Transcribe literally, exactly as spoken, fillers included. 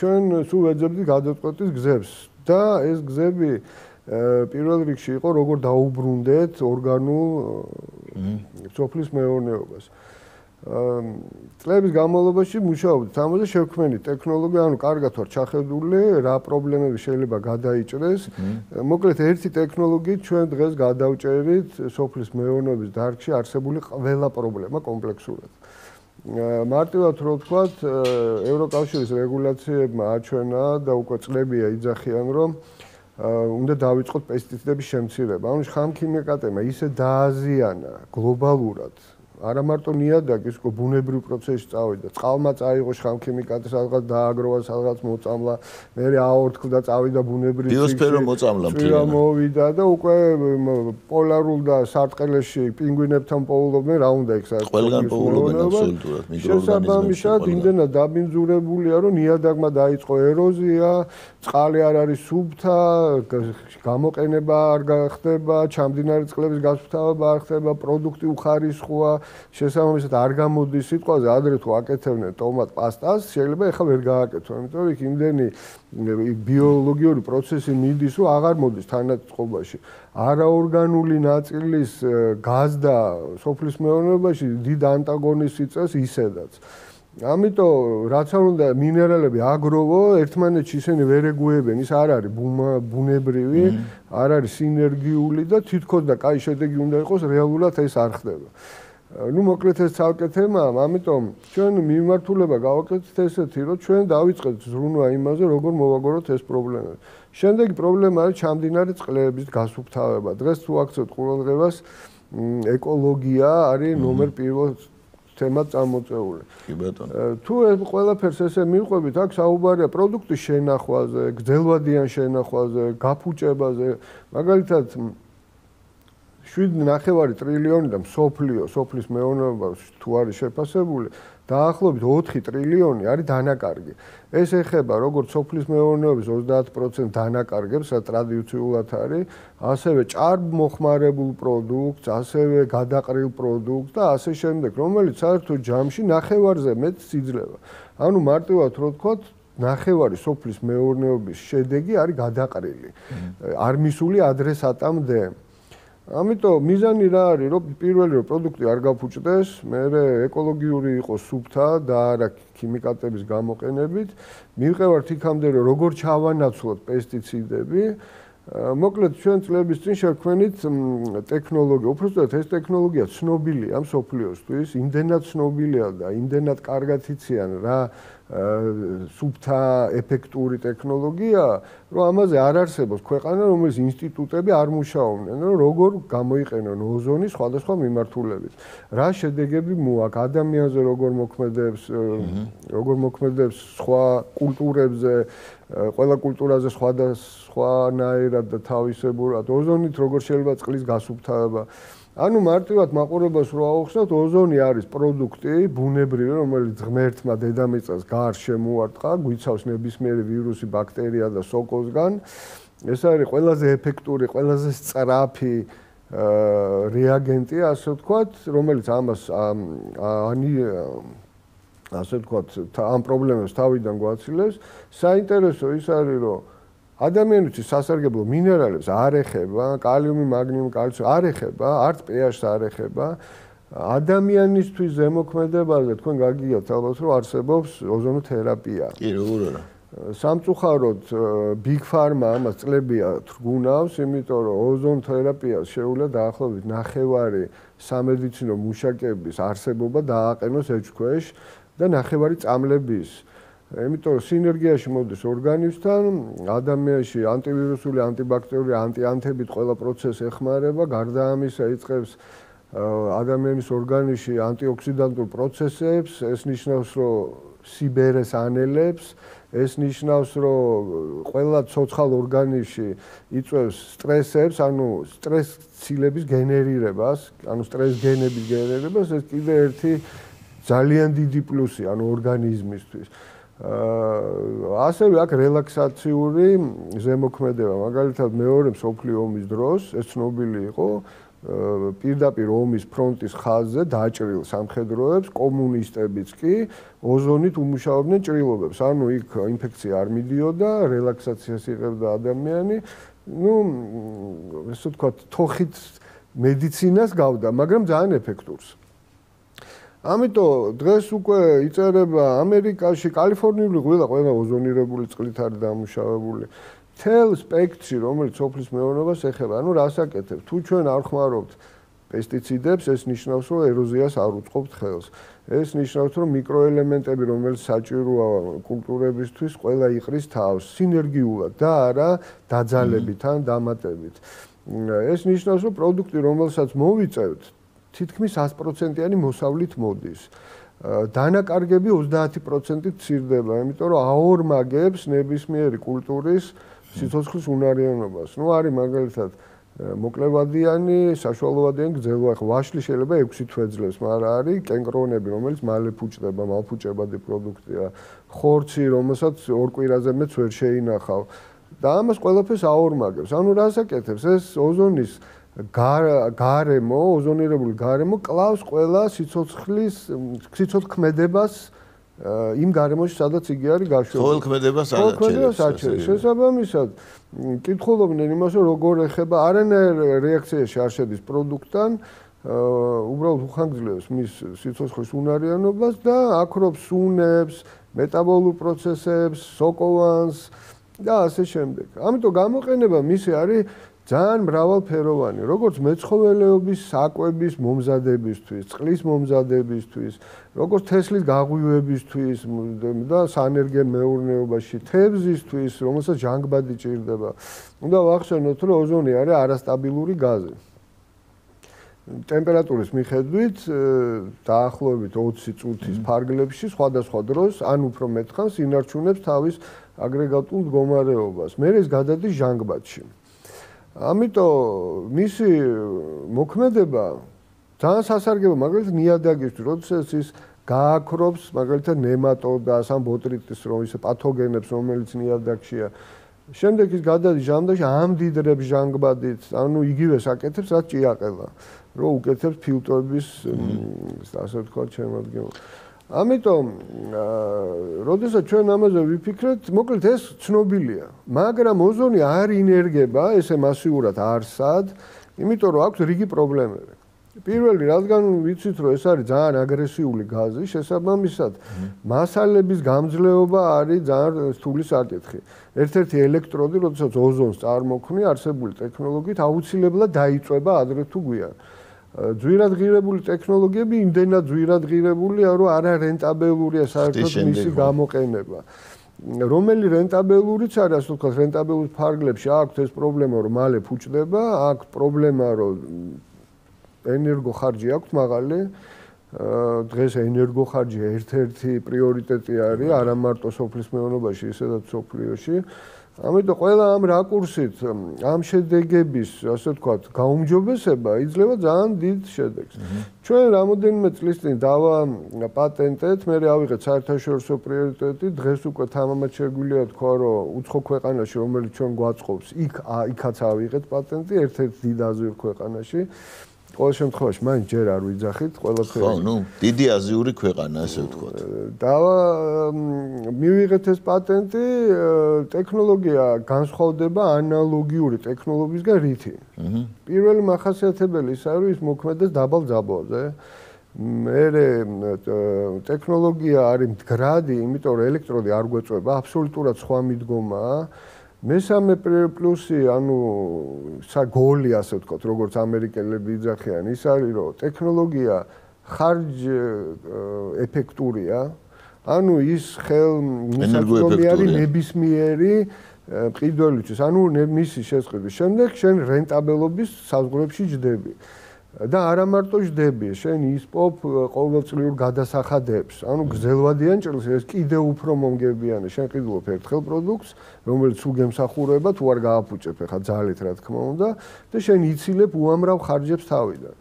ჩვენ სულ ვეძებდით გადაწყვეტის გზებს და ეს გზები პირველ რიგში იყო როგორ დაუბრუნდეთ ორგანულ სოფლის მეურნეობას. წლების განმავლობაში მუშაობდით ამაზე, შევქმნით ტექნოლოგია, ანუ კარგად ვარ ჩახედული, რა პრობლემები შეიძლება გადაიჭრეს. მოკლედ ერთი ტექნოლოგიით ჩვენ დღეს გადავჭერით სოფლის მეურნეობის დარგში არსებული ყველა პრობლემა კომპლექსურად. მარტივად რო ვთქვათ, ევროკავშირის რეგულაციებმა აჩვენა და უკვე წლებია იძახიან, რომ უნდა დავიწყოთ პესტიციდების შემცირება. ანუ ხამქიმიკატებმა ისე დააზიანა გლობალურად არა მარტო ნიადაგის, უკვე ბუნებრივ პროცესში წავიდა. წყალმა წაიღო ხამქიმიკატი, სადღაც დააგროვა, სადღაც მოწამლა, მერე აორთქლდა, წავიდა ბუნებრივ ბიოსფერო მოწამლა მთლიანად. მოვიდა და უკვე პოლარულ და სარტყელში პინგვინებთან პოულობდნენ, რა უნდა იქ საერთოდ. ყველგან პოულობენ აბსოლუტურად მიკროორგანიზმები. შესაბამისად, იმდენად დაბინძურებულია, რომ ნიადაგმა დაიწყო ეროზია, წყალი არ არის სუფთა, გამოყენება არ გახდება, ჩამდინარე წყლების გასუფთავება არ ხდება, პროდუქტი უხარისხოა. შესაბამისად არ გამოდის სიტყვაზე, ადრე თუ აკეთებდნენ ტომატ პასტას, შეიძლება ეხლა ვერ გააკეთო, იმიტომ რომ იქ იმდენი ბიოლოგიური პროცესი მიდის, რომ აღარ მოდის თანაწყობაში. არაორგანული ნაწილის გაზდა სოფლის მეურნეობაში დიდ ანტაგონიზმს იწვევს ისედაც. ამიტომ რაც არ უნდა მინერალები აგროვო, ერთმანეთში ისინი ვერ ეგუებენ, ის არ არის ბუნებრივი, არ არის სინერგიული და თითქოს და კაი შედეგი უნდა იყოს, რეალურად ეს არ ხდება. ნუ მოკლედ ეს ცალკე თემაა, ამიტომ ჩვენ მიმართულება გავაკეთეთ ესეთი, რომ ჩვენ დავიწყეთ ზრუნვა იმაზე, როგორ მოვაგოროთ ეს პრობლემები. შემდეგი პრობლემა არის ჩამდინარე წყლების გასუფთავება. დღეს თუ აქცევთ ყურადღებას, ეკოლოგია არის ნომერ პირველ თემად წამოწეული. კი ბატონო. თუ ეს ყველაფერს ესე მივყვებით, აქ საუბარია პროდუქტის შენახვაზე, გრძელვადიან შენახვაზე, გაფუჭებაზე, მაგალითად შვიდ ნახევარი ტრილიონი და მსოფლიო, სოფლის მეურნეობაში თუ არის შეფასებული, დაახლოებით ოთხი ტრილიონი არის დანაკარგი. ეს ეხება როგორც სოფლის მეურნეობის ოცდაათ პროცენტს დანაკარგებს, ტრადიციულად არის, ასევე ჭარბმოხმარებულ პროდუქტს, ასევე გადაყრილ პროდუქტს და ასე შემდეგ, რომელიც საერთო ჯამში ნახევარზე მეტს იძლევა. ანუ მარტივად რო ვთქვათ, ნახევარი სოფლის მეურნეობის შედეგი არის გადაყრილი. არ მისული ადრესატამდე. ამიტომ მიზანი რა არის, რომ პირველი რომ პროდუქტი არ გაფუჭდეს, მერე ეკოლოგიური იყოს სუფთა და არა ქიმიკატების გამოყენებით, მივყევართ იქამდე რომ როგორ ჩავანაცვლოთ პესტიციდები. მოკლედ ჩვენ წლების წინ შევქმნით ტექნოლოგია. უბრალოდ ეს ტექნოლოგია ცნობილია მსოფლიოსთვის, იმდენად ცნობილია და იმდენად კარგად იციან რა სუფთა ეფექტური ტექნოლოგია, რომ ამაზე არ არსებობს ქვეყანა, რომელიც ინსტიტუტები არ მუშაობდნენ, რომ როგორ გამოიყენონ ოზონი სხვადასხვა მიმართულებით. რა შედეგები მოაქვს ადამიანზე, როგორ მოქმედებს, როგორ მოქმედებს სხვა კულტურებზე, ყველა კულტურაზე სხვადასხვანაირად და თავისებურად, ოზონით როგორ შეიძლება წყლის გასუფთავება. ანუ მარტივად მაყურებელს რო აუხსნათ, ოზონი არის პროდუქტი, ბუნებრივი, რომელიც ღმერთმა დედამიწას გარს შემოარტყა, გვიცავს ნებისმიერი ვირუსი, ბაქტერია და სოკოსგან. ეს არის ყველაზე ეფექტური, ყველაზე სწრაფი რეაგენტი, ასე ვთქვათ, რომელიც ამას ანი ასე ვთქვათ, ამ პრობლემებს თავიდან გვაცილებს. საინტერესო ის არის, რომ ადამიანის სასარგებლო მინერალებს არ ეხება, კალიუმი, მაგნიუმი, კალციუმი არ ეხება, არც pH-ს არ ეხება. ადამიანისთვის ზემოქმედებაზე თქვენ გაგიგებთ ალბათ, რომ არსებობს ოზონოთერაპია. კი, როგორ არა. სამწუხაროდ Big Pharma ამას წლებია თრგუნავს, იმიტომ რომ ოზონოთერაპიას შეუძლია დაახლოებით ნახევარი სამედიცინო მუშაკების არსებობა დააყენოს ეჭქვეშ და ნახევარი წამლების. იმიტომ რომ სინერგიაში მოდის ორგანიზმთან, ადამიანში ანტივირუსული, ანტიბაქტერიული, ანტიანთებით ყველა პროცესი ეხმარება, გარდა ამისა იწყებს ადამიანის ორგანიზმში ანტიოქსიდანტურ პროცესებს, ეს ნიშნავს, რომ სიბერეს ანელებს, ეს ნიშნავს, რომ ყველა ცოცხალ ორგანიზმში იწვევს სტრესებს, ანუ სტრესცილების გენერირებას, ანუ სტრეს გენების გენერირებას, ეს კიდე ერთი ძალიან დიდი პლუსი, ანუ ორგანიზმისთვის. ასევე აქ რელაქსაციური ზემოქმედება, მაგალითად მეორე მსოფლიო ომის დროს, ეს ცნობილი იყო, პირდაპირ ომის ფრონტის ხაზზე დაჭრილ სამხედროებს, კომუნისტებიც კი ოზონით უმუშავებდნენ ჭრილობებს. ანუ იქ ინფექცია არ მიდიოდა, რელაქსაციას იღებდა ადამიანი. ну, ესე ვთქვათ, თოხით მედიცინას გავდა, მაგრამ ძალიან ეფექტურს. ამიტომ დღეს უკვე იწერება ამერიკაში, კალიფორნიული ღვიძლა ყველა ოზონირებული წყლით არის დამუშავებული. თელ სპექტრში, რომელიც სოფლის მეურნეობას ეხება, ანუ რას აკეთებ? თუ ჩვენ არ ხმარობთ პესტიციდებს, ეს ნიშნავს, რომ ეროზიას არ უწყობთ ხელს. ეს ნიშნავს, რომ მიკროელემენტები, რომელიც საჭიროა კულტურებისთვის, ყველა იყრის თავს სინერგიულად და არა დაძალებით ან დამატებით. ეს ნიშნავს, რომ პროდუქტი, რომელსაც მოვიწევთ, თითქმის ათი პროცენტიანი მოსავლით მოდის. დანაკარგები ოცდაათი პროცენტით მცირდება, იმიტომ რომ აორმაგებს ნებისმიერი კულტურის სიცოცხლის უნარიანობას. ნუ არის მაგალითად მოკლევადიანი, საშუალოვადიანი გრძელვა, ხო ვაშლი შეიძლება ექვსი თვე ძლებს, მაგრამ არის კენკრონები, რომელიც მალე ფუჭდება, მალფუჭებადი პროდუქტია. ხორცი, რომელსაც ორ კვირაზე მეც ვერ შეინახავ. და ამას ყველაფერს აორმაგებს. ანუ რას აკეთებს? ეს ოზონის გარემო, ოზონირებული გარემო კლავს ყველა სიცოცხლის სიცოცხლქმედებას იმ გარემოში, სადაც იგი არის გაშვებული. ყოველქმედებას აჩერებს. შესაბამისად, კითხულობდნენ იმას, რომ როგორ ეხება არანაირ რეაქციაში არ შედის პროდუქტთან, უბრალოდ უხანგრძლივებს მის სიცოცხლის უნარიანობას და აქრობს სუნებს, მეტაბოლურ პროცესებს, სოკოვანს და ასე შემდეგ. ამიტომ გამოყენება მისი არის ძალიან მრავალფეროვანი, როგორც მეცხოველეობის საკვების მომზადებისთვის, წყლის მომზადებისთვის, როგორც თესლის გაღვივებისთვის და საენერგიო მეურნეობაში, თევზისთვის, რომელსაც ჟანგბადი ჭირდება. უნდა ვახსენოთ, რომ ოზონი არის არასტაბილური გაზი. ტემპერატურის მიხედვით დაახლოებით ოცი წუთის ფარგლებში სხვადასხვა დროს ან უფრო მეტხანს ინარჩუნებს თავის აგრეგატულ მდგომარეობას. მე ეს გადადის ჟანგბადში. ამიტომ მისი მოქმედება ძალიან სასარგებლო, მაგალითად ნიადაგისთვის, როდესაც ის გააქრობს მაგალითად ნემატოდას ან ბოტრიტის რომ ისე პათოგენებს, რომელიც ნიადაგშია. შემდეგ ის გადადის ჟანგბადში, ამდიდრებს ჟანგბადით, ანუ იგივეს აკეთებს, რაც ჭიაყელა, რომ უკეთებს ფილტრების, ასე ვთქვათ, შემადგენლობას. ამიტომ, როდესაც ჩვენ ამაზე ვიფიქრეთ, მოკლედ ეს ცნობილია, მაგრამ ოზონი არ ინერგება ესე მასიურად არსად, იმიტომ რომ აქვს რიგი პრობლემები. პირველი, რადგან ვიცით, რომ ეს არის ძალიან აგრესიული გაზი, შესაბამისად, მასალების გამძლეობა არის ძალიან რთული საკითხი. ერთ-ერთი ელექტროდი, როდესაც ოზონს წარმოქმნი არსებული ტექნოლოგიით, აუცილებლად დაიწვება ადრე თუ გვიან. ძვირად ღირებული ტექნოლოგიები იმდენად ძვირად ღირებულია, რომ არა რენტაბელურია საერთოდ მისი გამოყენება. რომელი რენტაბელურიც არის, ასე ვთქვათ, რენტაბელურ ფარგლებში აქვს ეს პრობლემა, რომ მალე ფუჭდება, აქვს პრობლემა, რომ ენერგოხარჯი აქვს მაღალი. დღეს ენერგოხარჯი ერთ-ერთი პრიორიტეტი არის, არა მარტო სოფლის მეურნეობაში, ისედაც სოფლიოში. ამიტომ ყველა ამ რაკურსით, ამ შედეგების, ასე ვთქვათ, გაუმჯობესება იძლევა ძალიან დიდ შედეგს. ჩვენ რამოდენიმე წლის წინ დავაპატენტეთ, მე ავიღეთ საერთაშორისო პრიორიტეტი, დღეს უკვე თამამად შეგვიძლია თქვა, რომ უცხო ქვეყანაში, რომელიც ჩვენ გვაწყობს, იქ იქაც ავიღეთ პატენტი, ერთ-ერთ დიდ აზიურ ქვეყანაში. ყოველ შემთხვევაში, მაინც ჯერ არ ვიძახით ყველაფერი. ხო, ნუ, დიდი აზიური ქვეყანა, ასე ვთქვათ. და მივიღეთ ეს პატენტი, ტექნოლოგია განსხვავდება ანალოგიური ტექნოლოგიისგან რითი. პირველი მახასიათებელი ის არის, ის მოქმედებს დაბალ ძაბოზე. მერე ტექნოლოგია არის მდგრადი, იმიტომ რომ ელექტროდი არ გვეწვება, აბსოლუტურად სხვა მიდგომაა. მესამე პლუსი, ანუ საგოლი, ასე ვთქვათ, როგორც ამერიკელები იძახიან, ის არის, რომ ტექნოლოგია ხარჯ ეფექტურია, ანუ ის ხელმისაწვდომი არის ნებისმიერი მყიდველისთვის, ანუ მისი შესყიდვის შემდეგ შენ რენტაბელობის საზღვრებში ჯდები. და არა მარტო ჯდები, შენ ისპობ ყოველწლიურ გადასახადებს. ანუ გრძელვადიან ჭრილს, ეს კიდე უფრო მომგებიანი. შენ ყიდულობ ერთხელ პროდუქტს, რომელიც თუ გემსახურება, თუ არ გააფუჭებ, ხა ძალით რა თქმა უნდა, და შენ იცილებ უამრავ ხარჯებს თავიდან.